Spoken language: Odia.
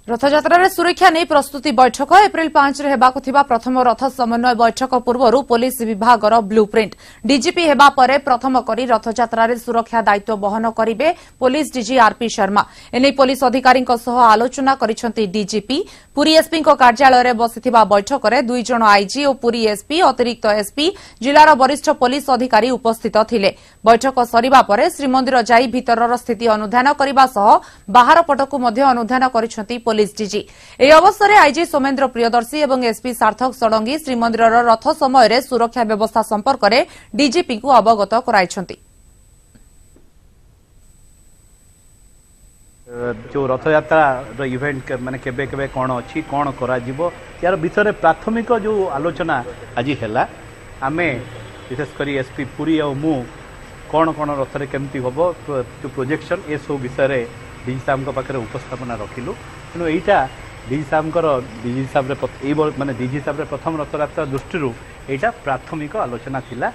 ରଥଯାତ୍ରାରେ ସୁରକ୍ଷା ନେଇ ପ୍ରସ୍ତୁତି ବୈଠକ। ଏପ୍ରିଲ 5ରେ ହେବାକୁ ଥିବା ପ୍ରଥମ ରଥ ସମନ୍ୱୟ ବୈଠକ ପୂର୍ବରୁ ପୋଲିସ ବିଭାଗର ବ୍ଲୁ ପ୍ରିଣ୍ଟ। ଡିଜିପି ହେବା ପରେ ପ୍ରଥମ କରି ରଥଯାତ୍ରାରେ ସୁରକ୍ଷା ଦାୟିତ୍ୱ ବହନ କରିବେ ପୋଲିସ ଡିଜି ଆରପି ଶର୍ମା। ଏନେଇ ପୋଲିସ ଅଧିକାରୀଙ୍କ ସହ ଆଲୋଚନା କରିଛନ୍ତି ଡିଜିପି। ପୁରୀ ଏସ୍ପିଙ୍କ କାର୍ଯ୍ୟାଳୟରେ ବସିଥିବା ବୈଠକରେ 2 ଜଣ ଆଇଜି ଓ ପୁରୀ ଏସ୍ପି, ଅତିରିକ୍ତ ଏସ୍ପି, ଜିଲ୍ଲାର ବରିଷ୍ଠ ପୋଲିସ ଅଧିକାରୀ ଉପସ୍ଥିତ ଥିଲେ। ବୈଠକ ସରିବା ପରେ ଶ୍ରୀମନ୍ଦିର ଯାଇ ଭିତରର ସ୍ଥିତି ଅନୁଧ୍ୟାନ କରିବା ସହ ବାହାର ପଟକୁ ମଧ୍ୟ ଅନୁଧ୍ୟାନ କରିଛନ୍ତି ପୋଲିସ ଡିଜି। ଏହି ଅବସରରେ ଆଇଜି ସୌମେନ୍ଦ୍ର ପ୍ରିୟଦର୍ଶୀ ଏବଂ ଏସ୍ପି ସାର୍ଥକ ଷଡ଼ଙ୍ଗୀ ଶ୍ରୀମନ୍ଦିରର ରଥ ସମୟରେ ସୁରକ୍ଷା ବ୍ୟବସ୍ଥା ସମ୍ପର୍କରେ ଡିଜିପିଙ୍କୁ ଅବଗତ କରାଇଛନ୍ତି। ଯେଉଁ ରଥଯାତ୍ରାର ଇଭେଣ୍ଟ ମାନେ କେବେ କେବେ କ'ଣ ଅଛି, କ'ଣ କରାଯିବ, ଏହାର ବିଷୟରେ ପ୍ରାଥମିକ ଯେଉଁ ଆଲୋଚନା ଆଜି ହେଲା, ଆମେ ବିଶେଷ କରି ଏସ୍ପି ପୁରୀ ଆଉ ମୁଁ କ'ଣ କ'ଣ ରଥରେ କେମିତି ହେବ, ଯେଉଁ ପ୍ରୋଜେକ୍ସନ୍, ଏସବୁ ବିଷୟରେ ଡିଜି ସାହେବଙ୍କ ପାଖରେ ଉପସ୍ଥାପନା ରଖିଲୁ। ତେଣୁ ଏଇଟା ଡିଜି ସାହେବଙ୍କର ଡିଜି ହିସାବରେ ଏଇ ମାନେ ଡିଜି ହିସାବରେ ପ୍ରଥମ ରଥଯାତ୍ରା ଦୃଷ୍ଟିରୁ ଏଇଟା ପ୍ରାଥମିକ ଆଲୋଚନା ଥିଲା।